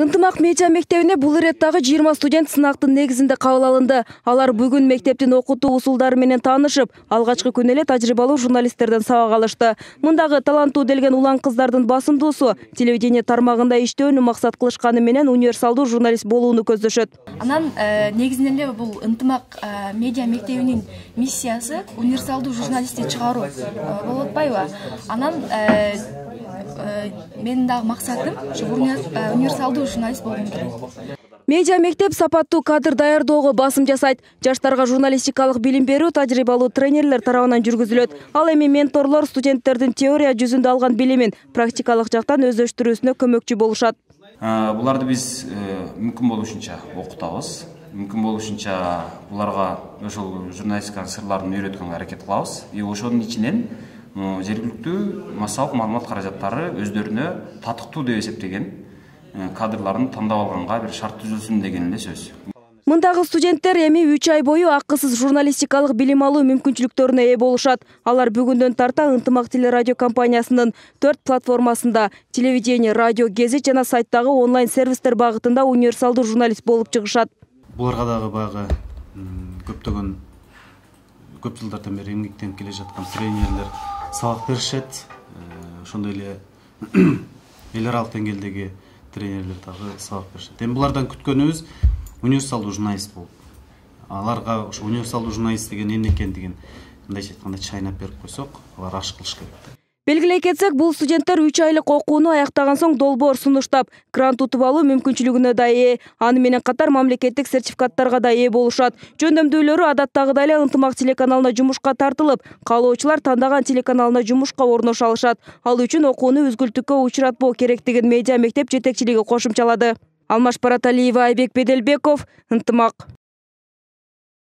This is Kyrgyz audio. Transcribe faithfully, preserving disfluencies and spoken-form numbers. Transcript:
Ынтымак медиа мектебине бул иреттагы жыйырма студент сынактын негизинде кабыл алынды. Алар бүгүн мектептин окутуу усулдары менен таанышып, алгачкы күнү эле тажрыйбалуу журналисттерден сабак алышты. Мындагы таланттуу делген улан кыздардын басымдуусу телевидение тармагында иштөөнү максат кылышканы менен универсалдуу журналист болууну көздөшөт. Анан негизинен эле бул Ынтымак медиа мектебинин миссиясы универсалдуу журналистти чыгаруу болуп атпайбы? Анан менин дагы максатым ушу универсалдуу журналист болгум келет. Медиа мектеп сапаттуу кадр даярдоого басым жасайт. Жаштарга журналистикалык билим берүү тажрыйбалуу тренерлер тарабынан жүргүзүлөт. Ал эми менторлор студенттердин теория жүзүндө алган билимин практикалык жактан өздөштүрүүсүнө көмөкчү болушат. Буларды биз мүмкүн болушунча окутабыз. Мүмкүн болушунча буларга ошол журналистиканын сырларын үйрөткөнгө аракет кылабыз. И ошонун ичинен жергиликтүү массалык маалымат каражаттары өздөрүнө татыктуу деп эсептеген кадрларын тандап алганга бир шарт түзүлсүн деген эле сөз. Мындагы студенттер эми үч ай бою акысыз журналистикалык билим алуу мүмкүнчүлүктөрүнө ээ болушат. Алар бүгүндөн тарта Ынтымак телерадио компаниясынын төрт платформасында телевидение, радио, гезит жана сайттагы онлайн сервистер багытында универсалдуу журналист болуп чыгышат. Буларга дагы баягы көптөгөн көп жылдардан бери эмгектенип келе жаткан тренерлер сабак беришет. Ошондой эле эл аралык деңгээлдеги тренерлер дагы сабак беришет. Эми булардан күткөнүбүз универсалдуу журналист болуп, аларга ушу универсалдуу журналист деген эмне экендигин мындайча айтканда чайнап берип койсок, алар аш кылыш керек. Белгилей кетсек, бул студенттер үч айлык окууну аяктаган соң долбоор сунуштап, грант утуп алуу мүмкүнчүлүгүнө да ээ. Аны менен катар мамлекеттик сертификаттарга да ээ болушат. Жөндөмдүүлөрү адаттагыдай эле Ынтымак телеканалына жумушка тартылып, каалоочулар тандаган телеканалына жумушка орношо алышат. Ал үчүн окууну үзгүлтүккө учуратпоо керектигин медиа мектеп жетекчилиги кошумчалады. Алмаш Бараталиева, Айбек Беделбеков, Ынтымак.